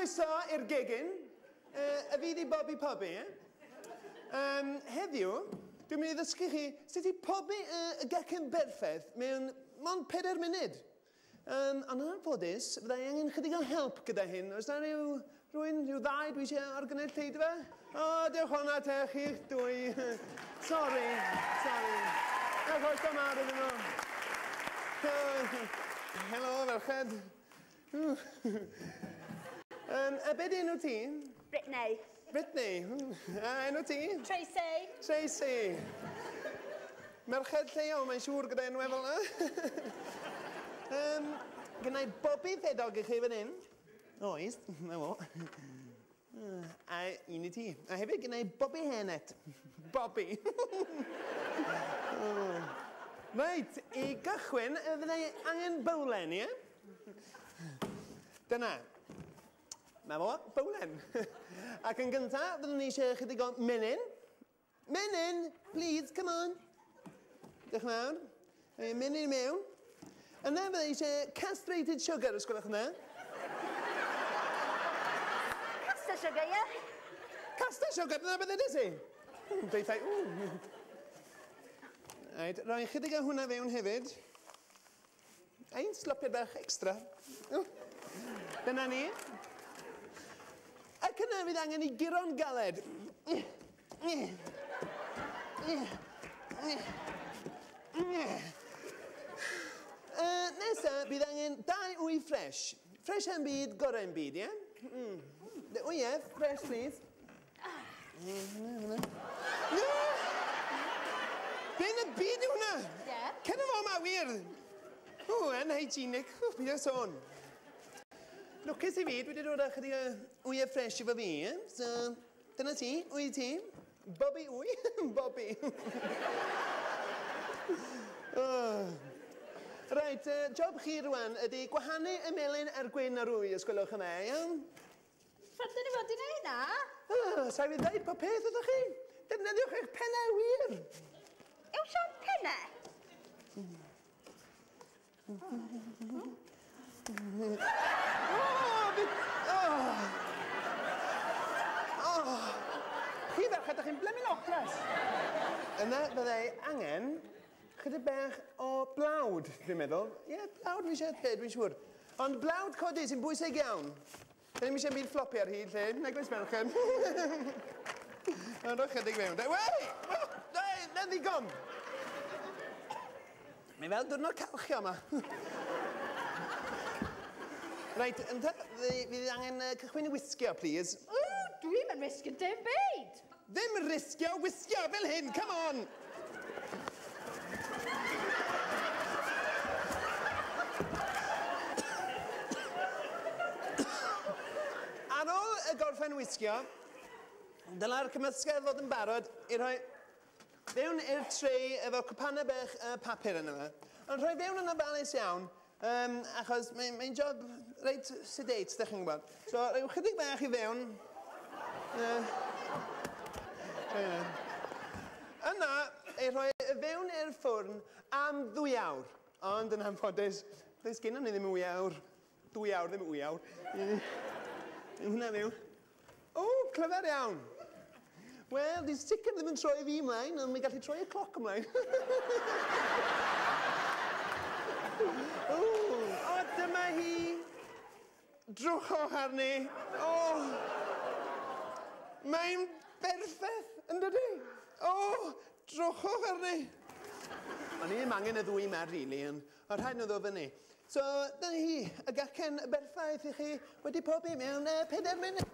Croeso i'r gegin. Y fi di Bobi Pobi, eh? Heddiw, dwi'n mynd i ddysgu chi sut i pobi y gacen berffaith mewn mond 4 munud. Ond yn anffodus, fyddai angen chydig o help gyda hyn. Oes na rhywun, rhyw ddau dwi eisiau o'r gynulleidfa? O, diolch o'na te, chi'ch dwy. Sorry, sorry. Diolch oes da mawr iddyn nhw. Helo, ferched. A be di enw ti? Brittany. Brittany. A enw ti? Tracy. Tracy. Merched lleol, mae'n siŵr gyda enwau fel yna. Gynna i bobi ffedog i chi fan hyn. Oes, na fo. A un i ti. A hefyd gynna i bobi hairnet. Bobi. Reit, i gychwyn, fyddai angen bowlen, ie? Dyna. Na fo, bowlen. Ac yn gyntaf, fyddwn ni eisiau chydig o menyn. Menyn, please, come on. Diolch yn fawr. Menyn mewn. Yna fyddai eisiau castrated sugar, os gwelwch yn dda. Caster sugar, ie? Caster sugar, dyna beth ydys i? Deithau, ww. Reit, rhoi chydig o hwnna fewn hefyd. Ein slopiad bach extra. Dyna ni. Ac yna fydd angen i guro'n galed. Nesa, bydd angen 2 wy ffres. Ffres yn byd, gorau yn byd, ie? O ie, fresh, please. Be yn y byd yw hwnna? Ie. Cyn y fo ma, wir. O, anhygienic. O, byd o sôn. Lwcus i fi, dwi wedi dod â chydig o wyau ffres efo fi, ie? So, dyna ti, wy ti. Bobi wy, Bobi. Reit, job chi rwan ydy gwahanu y melyn a'r gwyn a'r wy, os gwelwch yn dda, iawn? Pryd ni fod i wneud hynna? Sa i fi ddeud pob peth wrthych chi. Defnyddiwch eich pennau wir. Yw Sian pennau? Chi ferched, ydych chi'n blymin ocras. Yna fyddai angen chydig bach o blawd, dwi'n meddwl. Ie, blawd fi eisiau dweud, dwi'n siŵr. Ond blawd codi sy'n bwysig iawn. Da ni'm eisiau byd flopi ar hyd lle, nag oes merched. Ond rhoi chydig fewn. Wei! Na ddigon! Mae fel diwrnod calchio yma. Reit, ynte, fydd angen cychwyn i wisgio, please. O, dwi'm yn risgio dim byd! Ddim risgio, wisgio fel hyn, come on! Ar ôl y gorffen wisgio, dyla'r cymysgedd fod yn barod i rhoi fewn i'r tray efo cwpanau bach papur yna fe. Ond rhoi fewn yn ofalus iawn, achos mae'n job reit sedate, dych chi'n gwybod. So, rhyw chydig bach i fewn. Yna, ei rhoi fewn i'r ffwrn am 2 awr. Ond yn anffodus, does gennym ni ddim 2 awr. 2 awr, ddim 2 awr. Hwnna fewn. O, clyfar iawn. Wel, di sicr ddim yn troi fi ymlaen, ond mae'n gallu troi y cloc ymlaen. O, dyma hi. Drwchwch arni. O, mae'n berffaith, yn dydi? O, drwchwch arni. O'n i ddim angen y ddwy yma, rili, ond oedd rhaid nhw ddod fyny. So, dyna hi, y gacen berffaith i chi wedi pobi mewn 4 munud.